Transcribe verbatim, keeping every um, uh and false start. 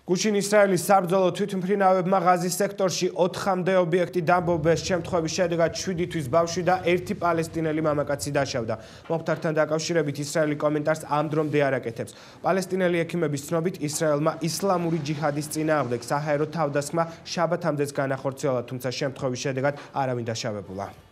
გუშინ ისრაელის საბრძოლო თვითმფრინავებმა ღაზის სექტორში ოთხამდე ობიექტი დამბობეს, შემთხვევის შედეგად შვიდი თვის ბავშვი და ერთი პალესტინელი მამაკაცი დაშავდა. მომხდართან დაკავშირებით ისრაელი კომენტარს ამ დრომდე არ აკეთებს. პალესტინელი ექიმების ცნობით, ისრაელმა ისლამური ჯიჰადის წინააღმდეგ საჰაერო თავდასხმა შაბათამდეც განახორციელა, თუმცა შემთხვევის შედეგად არავინ დაშავებულა.